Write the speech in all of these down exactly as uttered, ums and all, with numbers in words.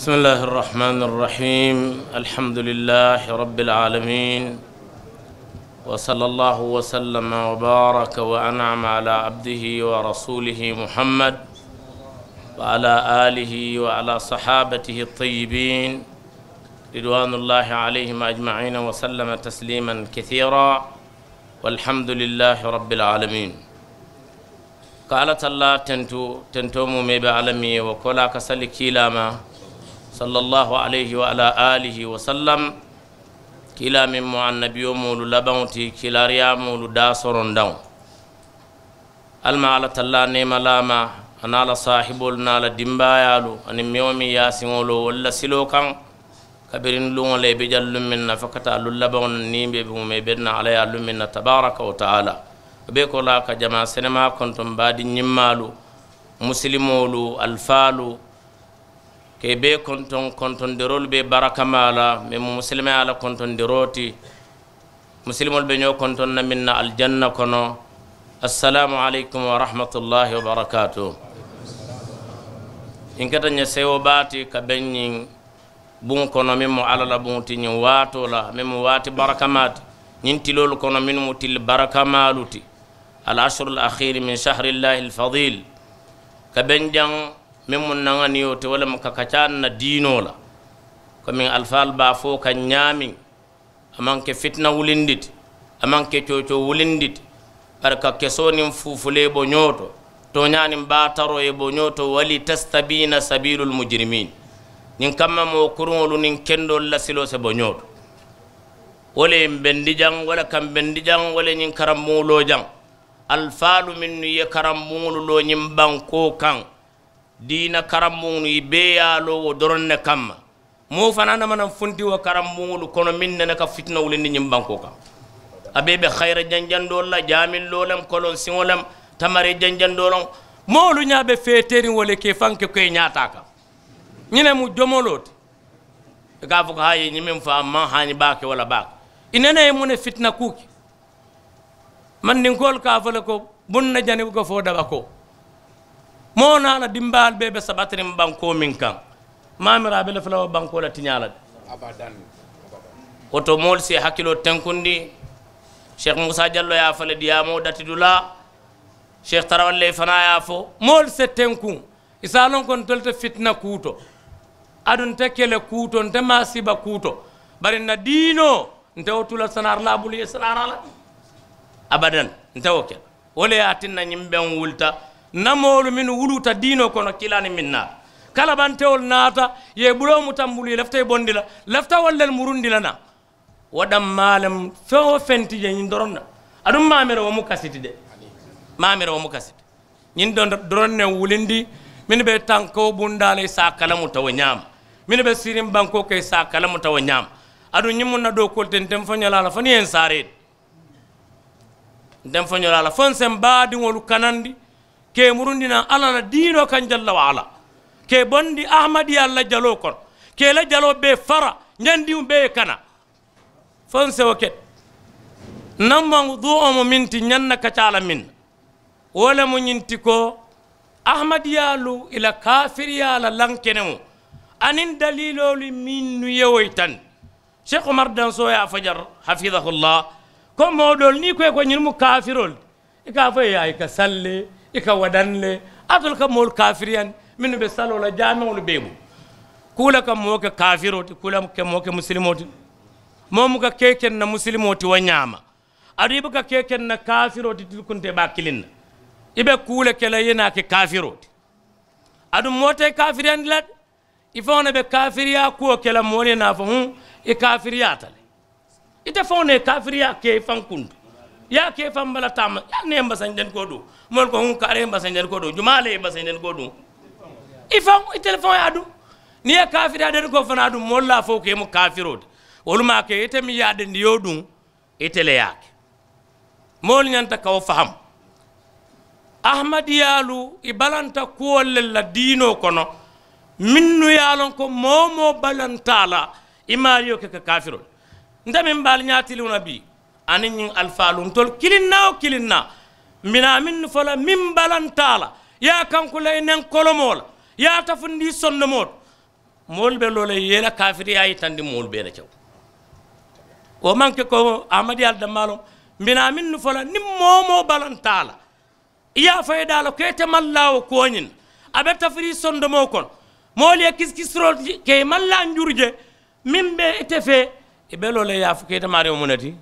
بسم الله الرحمن الرحيم. الحمد لله رب العالمين. وصلى الله وسلم وبارك وأنعم على عبده ورسوله محمد وعلى آله وعلى صحابته الطيبين رضوان الله عليهم أجمعين وسلم تسليما كثيرا. والحمد لله رب العالمين. Ka alla tallaa tentu tentoo muumee be alla miŋ ye wo koolaa ka sali kiilaa ma sallallaahu alayhi wa alaa aalihi wa sallam. Kiilaa meŋ mu annabiyomoolu labaŋo ti kiilaariyaamoolu daasorondaŋo. Alla ma alla tallaa neema laa ma a niŋ a la saahiboolu niŋ a la dimbaayaalu aniŋ meŋ wo meŋ ye a siŋo loo wolu la siloo kaŋ. Kabiriŋ luŋo la i be jaŋ luŋ meŋ na fo ka taa luŋ labaŋo na niŋ i be buŋo ma i be naa alla ye a luŋ meŋ na tabaaraka wa taala. Wo bee koolaa ka jamaa senemaa kontoŋ baadiŋ ñimmaalu musilimoolu alifaalu ka i bee kontoŋ kontondiroolu be barakamaa la meŋ mu musilimeyaa la kontondiroo ti. Musilimoolu be ñoo kontoŋ na meŋ na alijanna kono. Assalaamu aleykum wa rahmatullaahi wa barakaatu. Ñiŋ keta ñe sewo baa ti ka beŋ ñiŋ buŋo kono meŋ mu alla la buŋo ti ñiŋ waatoo la meŋ mu waati barakamaa ti. Ñiŋ tiloolu kono mennu mu tili barakamaalu ti. Al ashuru al akhiri min shahri llahi al fadil. Ka beŋ jaŋ meŋ mu naŋaniyo ti wo le mu ka kacaa na diinoo la. Komiŋ alifaalu be a fo kaŋ ñaameŋ. A maŋ ke fitina wulindi ti. A maŋ ke coocoo wulindi ti. Bari ka kesoo niŋ fuufulee bo ñoo to tooñaa niŋ baataroo ye bo ñoo to wali tastabiina sabiilul mujirimiin. Ñiŋ kamma moo kuruŋolu niŋ kendoolu la siloo se bo ñoo to. Wo le ye mbendi jaŋ wo le ka mbendi jaŋ wo le ye ñiŋ karambuŋo loo jaŋ. Alifaalu mennu ye karambuŋolu loo ñiŋ bankoo kaŋ diina karambuŋolu i bee ye a loŋ wo doroŋ ne kamma. Moo fanaa nama naŋ funti wo karambuŋolu kono meŋ nene ka fitina wulindi ñiŋ bankoo kaŋ. A bee be hayira janjandoolu la jaamilloo lem kolonsiŋo lem tamari janjandoo loŋ. Moolu ñaa be feeteeriŋ wo le ka i faŋ ke ko i ñaataa kaŋ. Ñiŋ ne mu jomoloo ti. I ka a fo ko haayi ñiŋ meŋ fo a maŋ haañi baake wo la baake. I nene ye muŋ ne fitina kuu ke. Mandinkoolu ka a fo le ko buŋ na jani buka fo daba ko moo niŋ a la dimbaalu bee be sabatiriŋ bankoo meŋ kaŋ. Maamira a be le fula wo bankoo la tiñaa la de. Wo to moolu si i hakiloo tenkundi. Seeku musa jallo ye a fo le diyaamoo dati dulaa. Seeku tarawalle fanaa ye a fo moolu se tenkuŋ. I se a loŋ ko ntolu te fitina kuu to. Aduŋ nte kele kuu to nte maasiiba kuu to. Bari n na diinoo nte wo tula sanaarilaa bulu ye sanaara la. Abadaŋ. Nte wo ke la wo le ye a tinna ñiŋ beŋ wulita n na moolu mennu wuluuta diinoo kono kiilaani meŋ naata. Kalabantewolu naata i ye i buloo muta n bulu i lafita i bondi la. Lafita wolu le murundi la naa. Wo dammaa le mu feŋ wo feŋ ti je ñiŋ doroŋ na. Aduŋ maamira wo mu kasi ti de. Maamira wo mu kasi ti. Ñiŋ doroŋ ne wulindi mennu be tankoo bundaa la i se a kalamuta wo ñaama. Mennu be siiriŋ bankoo ka i se a kalamuta wo ñaama. Aduŋ ñiŋ mu n na dookuwo le ti nte m foño la a la fo niŋ ye n saaree ti. Nte m foño la a la fo n se m baadiŋolu kanandi ka i murundi naŋ alla la diinoo kaŋ jalla wa alla. Ka i bondi ahamadiyaalu la jaloo kono ka i la jaloo bee fara ñandiŋo bee ye kana. Fo n sewo ke ti n na mawuduuwo mu meŋ ti ñaŋ na kaccaa la meŋ na. Wo le mu ñiŋ ti ko ahamadiyaalu i la kaafiriyaa la lankeneŋo aniŋ daliiloolu mennu ye wo yitandi. Seeku umar dansoo ye a fo jari hafidahullah ko moo doolu niŋ i ko i ko ñiŋ mu kaafiroolu ti. I ka a fo i ye i ka sali le i ka wadaŋ le. Alitolu ka moolu kaafiriyandi mennu be saloo la jaameŋolu bee bulu. Kuu le ka moo ke kaafiroo ti kuu le ka moo ke musilimoo ti. Moo buka ke ke n na musilimoo ti wo ñaama. Aduŋ i buka ke ke n na kaafiroo ti tilikunta i be a kiliŋ na. I be kuu le ke la i ye naa ke kaafiroo ti. Aduŋ moo te i kaafiriyandi la de. I faŋo ne be kaafiriyaa kuwo ke la moolu ye naa fo huŋ. I kaafiriyaata le. Ite faŋo ne ye kaafiriyaa ke i faŋ kuntu. I ye a ke i faŋ bala taama i ye a ne ye mbasanjanikoo duŋ. Moolu ko huŋ kaari ye mbasanjanikoo duŋ jumaa le ye mbasanjanikoo duŋ. I faŋ itelu faŋo ye a duŋ. Niŋ i ye kaafiriyaa denikoo fanaa duŋ moolu la a fo ko i mu kaafiroo ti. Wolu maŋ a ke ite meŋ ye a dendiyoo duŋ. Ite le ye a ke. Moolu ñanta ka wo fahamu. Ahamadiyaalu i balanta kuwolu le la diinoo kono. Mennu ye a loŋ ko moo-wo-moo balanta a la i maariyo ke ka kaafiroo le. Nte meŋ be ali ñaatiliŋo la bii aniŋ ñiŋ alifaalu ntolu kiliŋ naa wo kiliŋ naa. Mbi naa mennu fo la meŋ balanta a la i ye a kankula i neŋ kolomoo la i ye a tafundi i sondomoo to. moolu be loo la i ye i la kaafiriyaa yitandi moolu bee la kewo. Wo maŋ ke ko amadiyaalu dammaa loŋ. Mbi naa mennu fo la niŋ moo wo moo balanta a la, i ye a fo i daa la ko ite maŋ laa wo kuwo ñiŋ na. A be tafirii sondomoo kono. Moolu ye kisikisiroo ke i maŋ laa njuru je. Meŋ be ite fee, i be loo la i ye a fo ko ite maariyo mu ne ti?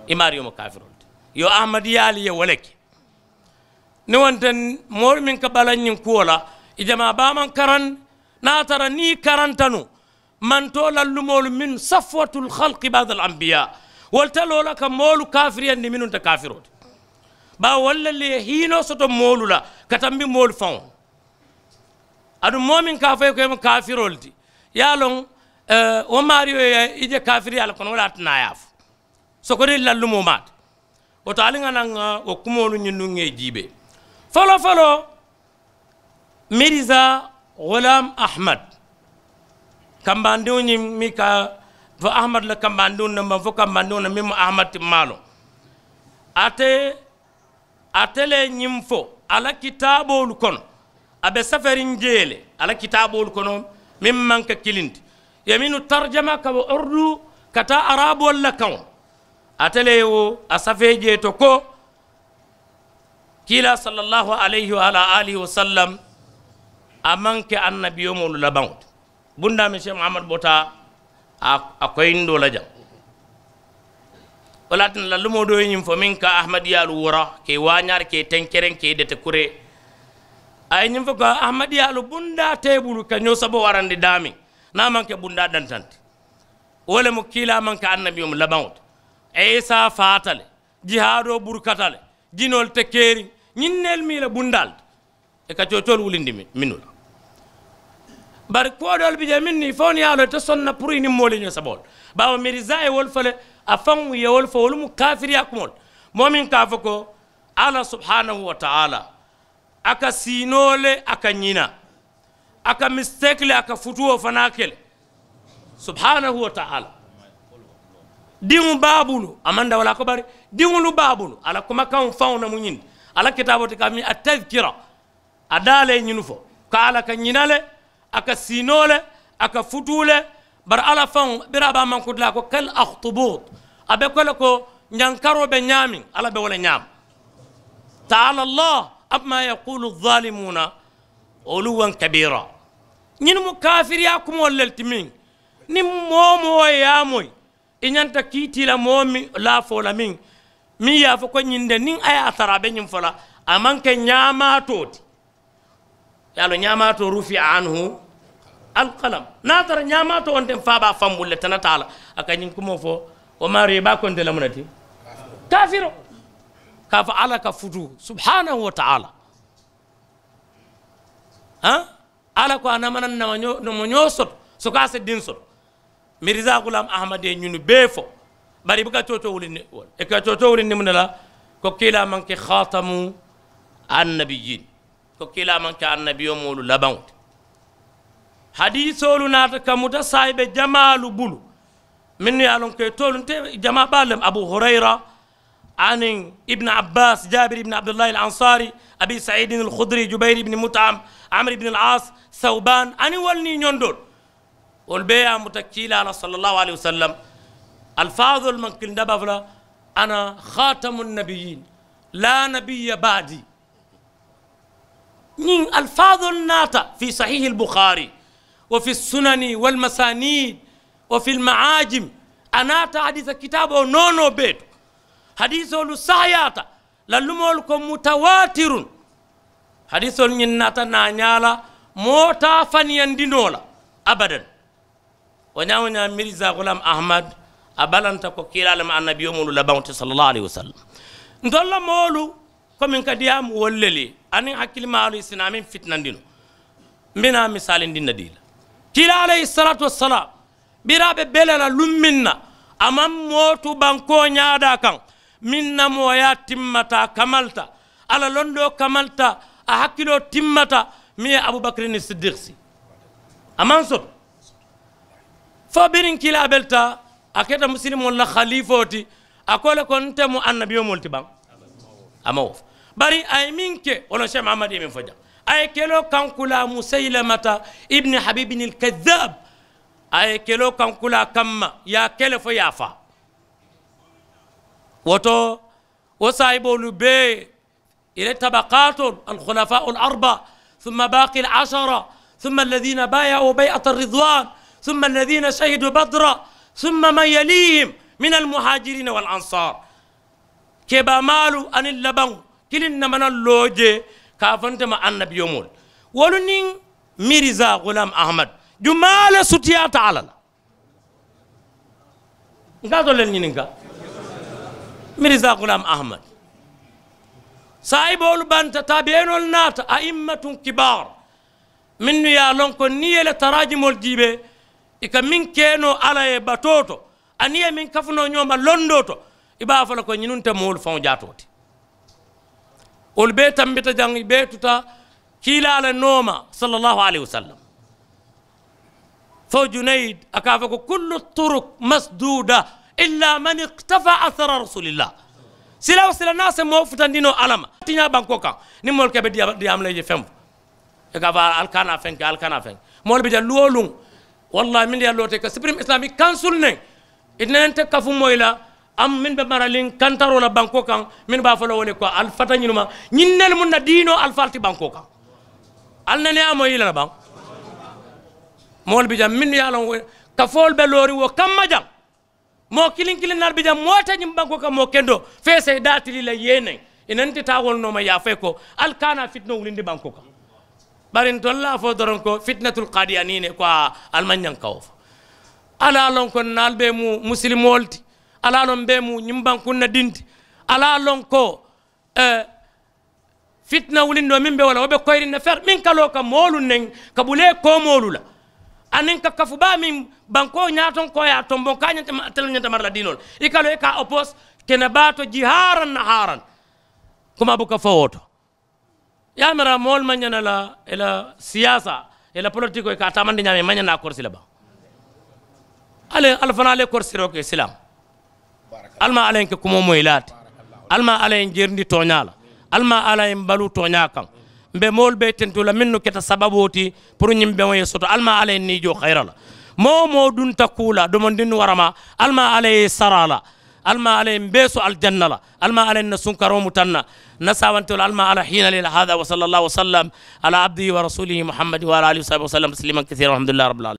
I maariyo mu kaafiroo le ti. Yo amadiyaalu ye wo le ke. Niŋ wo nte moolu meŋ ka bala ñiŋ kuwo la, i jamaa baa maŋ karaŋ. Niŋ a tara niŋ i karanta nuŋ, mantoo lallumoolu minnu safwatul halki baada al anbiyaa, wolu te loo la ka moolu kaafiriyandi mennu nte kaafiroo ti. Baawo wolu le ye hiinoo soto moolu la ka tambi moolu faŋo. Aduŋ moo meŋ ka a fo i ye ko i mu kaafiroo le ti, i ye a loŋ. Wo maariyo ye i je kaafiriyaa le kono wo le ye a tinaa a ye a fo. Sokodiri lallumoo maata. Wo to ali ŋa naŋ ŋa wo kumoolu ñiŋ nuŋ ŋa i jiibee. Foloo foloo, mirisa gulaam ahmad, kambandiŋo ñiŋ miŋ ka fo ahmad la kambandiŋo ne maŋ fo kambandiŋo ne miŋ mu ahmad ti maalo. Ate ate le ye ñiŋ fo a la kitaaboolu kono. A be saferiŋ jee le a la kitaaboolu kono, meŋ maŋ ke kiliŋ ti, i ye mennu tarjama ka bo ordu ka taa araaboolu la kaŋo. Ate le ye wo a safee jee to ko kiilaa sallallaahu alayhi wa alaa aalihi wa sallam, a maŋ ke annabiyomoolu labaŋo ti. Bundaa meŋ seeku mahamadu bota a koyindoo la jaŋ. Wo le ye a tinna lallumoo doo ye ñiŋ fo meŋ ka ahamadiyaalu wora ka i waañaari ka i tenkereŋ ka i dete kuree. A ye ñiŋ fo ko ahamadiyaalu bundaa te i bulu ka ñoo sabo warandi daameŋ, niŋ a maŋ ke bundaa dantaŋ ti. Wo le mu kiilaa maŋ ke annabiyomu labaŋo ti. Isa faata le, jihaadoo burukata le, jinoolu te keeriŋ, ñiŋ neelu mu i la bundaalu ti. I ka coocoolu wulindi mennu la. Bari kuwo doolu bi jee mennu i faŋo niŋ ye a loŋ ite sonna puru i niŋ moolu ye ñoo saba wo le. Baawo mirisaa ye wolu fo le, a faŋo ye wolu fo wolu mu kaafiriyaa kumoo le. Moo meŋ ka a fo ko alla subhaanahu wa taala a ka siinoo le a ka ñina, a ka misiteeki le a ka futuwoo fanaa ke le. Subhaanahu wa taala, diŋo be a bulu a maŋ dawalaa ko bari, diŋolu be a bulu a la kumakaŋo faŋo le mu ñiŋ ti. A la kitaaboo ti ka a miŋ a tazkira. A daa le ye ñiŋ fo ko alla ka ñina le, a ka siinoo le, a ka futuu le. Bari alla faŋo biriŋ a be a mankuti la a ko kal axtubuut, a be ko le ko ñankaroo be ñaameŋ alla be wo le ñaama. Taala allah amma yaqulu zalimuuna uluwan kabira. Ñiŋ mu kaafiriyaa kumoolu le ti meŋ niŋ moo moo ye a moyi, i ñanta kiitii la moo meŋ laafoo la meŋ meŋ ye a fo ko ñiŋ de niŋ a ye a tara a be ñiŋ fo la, a maŋ ke ñaamaatoo ti. Ye a loŋ ñaamaatoo rufi anhu alkalam. Niŋ a tara ñaamaatoo wo nteŋ fo a be a faŋ bulu le tana taa la, a ka ñiŋ kumoo fo. Wo maarii i be a konte le mu ne ti? Kaafiroo. Ka a fo alla ka futuu subhaanahu wa taala. Alla ko a namanaŋ namañoo soto soko a si diŋ soto. Mirisaa gulaam ahamad ye ñunu bee fo. Bari i buka coocoo wulindi wo le i ka coocoo wulindi muŋ ne la? Ko kiilaa maŋ ke haatamu annabiyiin, ko kiilaa maŋ ke annabiyomoolu labaŋo ti. Hadiisoolu naata ka muta saayibe jamaalu bulu, mennu ye a loŋ ko ì toolu nte jamaa baalu le mu abu hurayra, aniŋ ibnu abbaas jaabir ibnu abdullahi al ansaari, abi saidin al khudri jubayr ibnu mutaam, amr ibnu al aas, sawbaan aniŋ wolu niŋ ñondoolu. Wolu bee ye a muta kiilaa la sallallaahu alayhi wasallam. Alifaadoolu maŋ kiliŋ daba fula, ana haatamu nabiyiin, laa nabiya baadi. Ñiŋ alifaadoolu naata fi sahiihi albuxaari, wa fi sunani walmasaaniid, wa fi almaajim. A naata hadiisa kitaaboo noonoo bee to. Hadiisoolu sahayaata. Lallumoolu ko mutawaatirun. Hadiisoolu ñiŋ naata naañaa la, moo te a faniyandi noo la abadan. Wo ñaa wo ñaa mirisaa gulaam ahamad, a balanta ko kiilaa le mu annabiyomoolu labaŋo ti sallallaahu alayhi wasallam. Ntolu la moolu komi n ka diyaamu wolu le ye aniŋ hakilimaalu i si naa meŋ fitinandi noo. Mbe naa misaalindi n na dii la kiilaa alayhi salaatu wasalaam, biriŋ a be bele la luŋ meŋ na, a maŋ moo tu bankoo ñaadaa kaŋ meŋ na mooyaa timmata a kamalta, a la londoo kamalta, a hakiloo timmata, meŋ ye abubakirini siddiiki sii. A maŋ soto fo biriŋ kiilaa belta, a keta musilimoolu la haliifoo ti. A ko le ko nte mu annabiyomoolu ti baŋ? A maŋ wo fo. Bari a ye meŋ ke wo loŋ seeku mahamadu ye meŋ fo jaŋ, A ye keloo kankulaa musaylamata ibni habibin alkazab. A ye keloo kankulaa kamma ye a kele fo ye a faa. Wo to wo saayiboolu bee ila tabakaatoo alkhulafaa alarba, summa baaki alasara, summa alladina baaya'u bay'ata alridwan, summa alladina shahidu badra, summa man yalihim min almuhajirina walansar. Kebaamaalu aniŋ labaŋo kiliŋ namana loo jee ka a fo nte ma annabiyomoolu wolu niŋ mirisa gulam ahmad jumaa le sutiyaata alla la. N ka a to le ñininka mirisa gulam ahmad saayiboolu banta taabiyenoolu naata a immatun kibaar mennu ye a loŋ ko niŋ i ye le taraajimoolu jiibee i ka meŋ ke noo alla ye batoo to aniŋ i ye meŋ kafu noo ñoo ma londoo to i be a fo la ko ñinuŋ te moolu faŋo jaatoo ti. Wolu bee tambita jaŋ i bee tuta kiilaa le nooma sallallahu alayhi wasallam. Fo junayid a ka a fo ko kullu turuk masduda illa man iktafa asara rasulillah. Sila wo sila naa se moo futandinoo alla ma tiñaa bankoo kaŋ niŋ moolu ka be diyaama la i je feŋ fo i ka a fo ali kana feŋ ke ali kana feŋ ke moolu be jaŋ luwoo luŋ. Wallahi minnu ye a loota i ka sipirim islamic kansul neŋ i te nene nte kafu moyi la. Am min be maraliŋ kantaroo la bankoo kaŋ min be a fo la wo le ko ali fata ñinuma ñinnelu muŋ na diinoo alifaalu ti bankoo kaŋ. Ali nene ye a moyi la la baŋ moolu be jaŋ minnu ye a loŋ kafoolu be looriŋ wo kamma jaŋ. Moo kiliŋ kiliŋ naalu be jaŋ moo te ñiŋ bankoo kaŋ moo kendoo fee se i daa tilii la yee neŋ i nenti taa wolu nooma ye a fo i ko ali kana fitinoo wulindi bankoo kaŋ. Bari ntolu la a fo doroŋ ko fitinatul kadiyanii ne ko ali maŋ ñaŋ ka wo fo. Ali a loŋ ko naalu be mu musilimoolu ti. Ali a loŋ be mu ñiŋ bankuŋ na dinti. Ali a loŋ ko fitina wulindoo meŋ be wo la wo be koyiriŋ ne fere meŋ ka loo ka moolu neŋ ka bulee koomoolu la. Aniŋ ka kafu baa meŋ bankoo ñaatoŋ ko ye a tomboŋ ka a ñanta tele ñanta mara la diinoo la i ka loo i ka a opoos kene baa to jihaaraŋ na haaraŋ. Kuma buka fo wo to. Ye a mira moolu maŋ ñana la i la siyaasa i la politikoo i ka a taamandi ñaama i maŋ ñana a korisi le baŋ. Ali fanaa ali ye korisiroo ke silaamu. Ali maa alla ye n ke kumoo moyi laati. Ali maa alla ye n jerindi tooñaa la. Ali maa alla ye n baluu tooñaa kaŋ. Mbe moolu be tentu la mennu keta sababoo ti puru ñiŋ beŋo ye soto ali maa alla ye n niijoo xayira la. Moo wo moo dunta kuu la domondinnu waramaa ali maa alla ye i sara a la. Ali maa alla ye n bee so alijanna la. Ali maa alla ye n na sunkaroo muta n na. N na saawantoo la ali maa alla hiina le la hada wa salla allahu wa sallam ala abdihi wa rasulihi muhammadi wa ala alihi wa sahbihi wa sallam tasliman kasiira walhamdulillahi rabbil alamin.